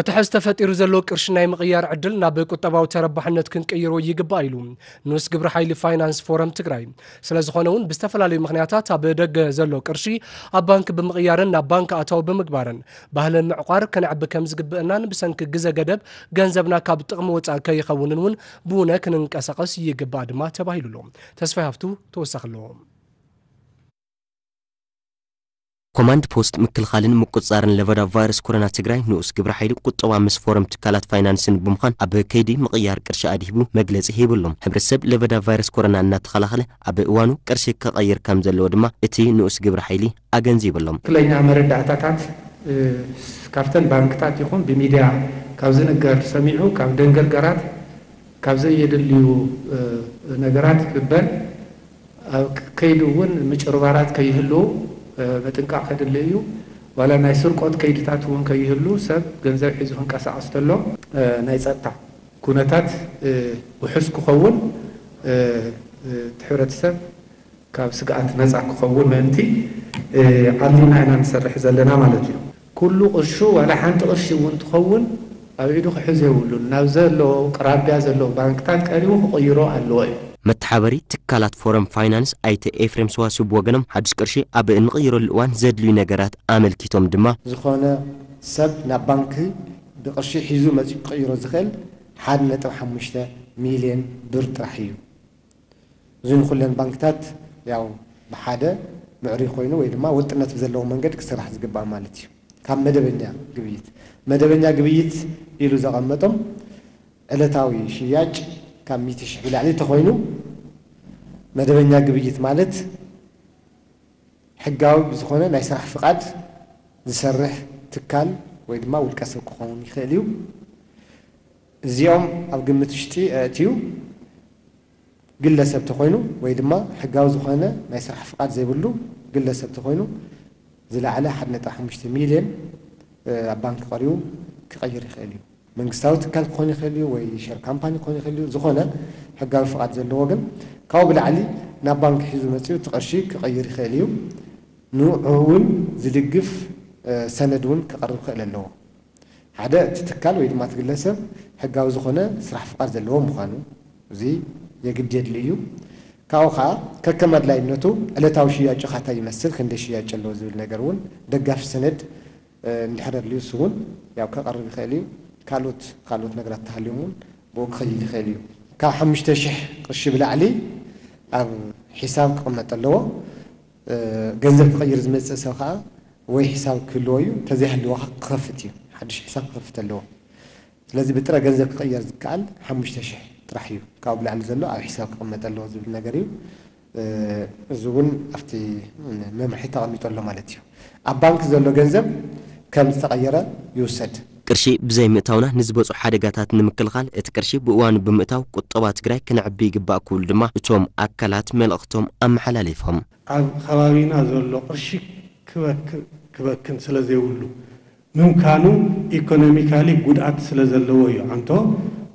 እቲ ሕዚ ተፈጢሩ ዘሎ ቅርሺ ናይ ምቕያር ዕድል ናብ ቁጠባዊ ተረባሕነት ክንቅይሮ ይግባእ ኢሉ ንኡስ ግብረ ሓይሊ ፋይናንስ ፎረም ትግራይ። ስለ ዝኾነ እውን ብዝተፈላለዩ ምኽንያታት ኣብ ደገ ዘሎ ቅርሺ ኣብ ባንክ ብምቕያርን ናብ ባንክ ኣታዊ ብምግባርን ባህሊ ምዕቋር ከነዕቢ ከም ዝግብእናን ብሰንኪ ግዘ ገደብ ገንዘብና ካብ ጥቕሚ ወፃእ ከይኸውንን እውን ብውነ ክንንቀሳቐስ ይግባእ ድማ ተባሂሉ ኣሎ። ተስፋይ ሃፍቱ ተወሳኺ ኣለዎ። ኮማንድ ፖስት ምክልኻልን ምቁፅፃርን ለበዳ ቫይረስ ኮሮና ትግራይ ንኡስ ግብረ ሓይሊ ቁጠባ ምስ ፎረም ትካላት ፋይናንስን ብምዃን ኣብ ከይዲ ምቕያር ቅርሺ ኣድሂቡ መግለፂ ሂቡ ኣሎ። ሕብረተሰብ ለበዳ ቫይረስ ኮሮና እናተኸላኸለ ኣብ እዋኑ ቅርሺ ክቐይር ከም ዘለዎ ድማ እቲ ንኡስ ግብረ ሓይሊ ኣገንዚቡ ኣሎ። ትክክለኛ መረዳእታታት ካብተን ባንክታት ይኹን ብሚድያ ካብ ዝንገር ሰሚዑ ካብ ደንገርገራት ካብ ዘየድልዩ ነገራት ክበል ኣብ ከይዲ እውን ምጭርባራት ከይህልው ምጥንቃቕ ከድሊ እዩ። ዋላ ናይ ስርቆት ከይድታት እውን ከይህሉ ሰብ ገንዘብ ሒዙ ክንቀሳቐስ ተሎ ናይ ፀጥታ ኩነታት ውሑስ ክኸውን እቲ ሕብረተሰብ ካብ ስግኣት ነፃ ክኸውን ምእንቲ ዓሊምና ኢና ንሰርሕ ዘለና ማለት እዩ። ኩሉ ቅርሹ ዋላ ሓንቲ ቅርሺ እውን ትኸውን ኣብ ኢዱ ክሕዝ የብሉን። ናብ ዘሎ ቅራቢያ ዘለዉ ባንክታት ቀሪቡ ክቕይሮ ኣለዎ እዩ። መተሓበሪ ትካላት ፎረም ፋይናንስ ኣይተ ኤፍሬም ሰዋስው ብወገኖም ሓዱሽ ቅርሺ ኣብ እንቕይረሉ እዋን ዘድልዩ ነገራት ኣመልኪቶም ድማ ዝኾነ ሰብ ናብ ባንኪ ብቅርሺ ሒዙ መፂኡ ክቕይሮ ዝኽእል ሓደ ነጥቢ ሓሙሽተ ሚልዮን ብር ጥራሕ እዩ። እዚ ንኹለን ባንክታት ያው ብሓደ ምዕሩይ ኮይኑ ወይ ድማ ወጥነት ብዘለዎ መንገድ ክስራሕ ዝግባእ ማለት እዩ። ካብ መደበኛ ግብይት መደበኛ ግብይት ኢሉ ዘቐመጦም ዕለታዊ ሽያጭ ካብ ሚእቲ ሽሕ ብላዕሊ ተኾይኑ መደበኛ ግብይት ማለት ሕጋዊ ብዝኾነ ናይ ስራሕ ፍቓድ ዝሰርሕ ትካል ወይ ድማ ውልቀ ሰብ ክኸውን ይኽእል እዩ። እዚኦም ኣብ ግምት ውሽጢ ኣእትዩ ግለሰብ ተኾይኑ ወይ ድማ ሕጋዊ ዝኾነ ናይ ስራሕ ፍቓድ ዘይብሉ ግለሰብ ተኾይኑ ዝለዓለ ሓደ ነጥቢ ሓሙሽተ ሚልዮን ኣብ ባንክ ቀሪቡ ክቐይር ይኽእል እዩ። መንግስታዊ ትካል ክኾን ይኽእል እዩ ወይ ሸር ካምፓኒ ክኾን ይኽእል እዩ። ዝኾነ ሕጋዊ ፍቓድ ዘለዎ ግን ካብኡ ብላዕሊ ናብ ባንክ ሒዙ መፂኡ እቲ ቅርሺ ክቐይር ይኽእል እዩ። ንዑ እውን ዝድግፍ ሰነድ እውን ክቐርብ ክኽእል ኣለዎ። ሓደ እቲ ትካል ወይ ድማ እቲ ግለሰብ ሕጋዊ ዝኾነ ስራሕ ፍቓድ ዘለዎ ምዃኑ እዚ የግድ የድሊ እዩ። ካብኡ ከዓ ከከም ኣድላይነቱ ዕለታዊ ሽያጩ ካታይ ይመስል፣ ክንደይ ሽያጭ ኣለዎ ዝብል ነገር እውን ደጋፊ ሰነድ እንድሕር ኣድልዩ እሱ እውን ያው ከቐርብ ይኽእል እዩ። ካልኦት ካልኦት ነገራት ተሃልዮም እውን ብኡ ክኸይድ ይኽእል እዩ። ካብ ሓሙሽተ ሽሕ ቅርሺ ብላዕሊ ኣብ ሒሳብ ክቕመጥ ኣለዎ። ገንዘብ ክቕይር ዝመፅእ ሰብ ከዓ ወይ ሒሳብ ክህልዎ እዩ፣ እንተዘይሃልዎ ከዓ ክኸፍት እዩ፣ ሓዱሽ ሒሳብ ክኸፍት ኣለዎ። ስለዚ ብጥረ ገንዘብ ክቕየር ዝከኣል ሓሙሽተ ሽሕ ጥራሕ እዩ፣ ካብኡ ብላዕሊ ዘሎ ኣብ ሒሳብ ክቕመጥ ኣለዎ ዝብል ነገር እዩ። እዚ እውን ኣብቲ መምርሒ ተቐሚጡ ኣሎ ማለት እዩ። ኣብ ባንክ ዘሎ ገንዘብ ከም ዝተቐየረ ይውሰድ። ቅርሺ ብዘይምእታውና ንዝመፁ ሓደጋታት ንምክልኻል እቲ ቅርሺ ብእዋኑ ብምእታው ቁጠባ ትግራይ ክነዕቢ ይግባእ ክብሉ ድማ እቶም ኣካላት መልእኽቶም ኣመሓላሊፎም። ኣብ ከባቢና ዘሎ ቅርሺ ክበክን ስለዘይብሉ ምምካኑ ኢኮኖሚካሊ ጉድኣት ስለዘለዎ እዩ ዓንቶ።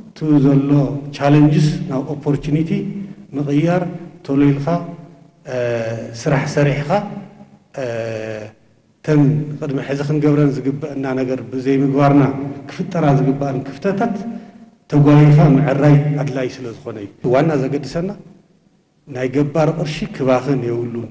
እቲ ዘሎ ቻለንጅስ ናብ ኦፖርቹኒቲ ምቕያር ቶሎ ኢልካ ስራሕ ሰሪሕኻ እተን ቅድሚ ሕዚ ክንገብረን ዝግበአና ነገር ብዘይምግባርና ክፍጠራ ዝግበኣን ክፍተታት ተጓይኻ ምዕራይ ኣድላይ ስለዝኾነ እዩ። ዋና ዘገድሰና ናይ ገባር ቅርሺ ክባኽን የብሉን።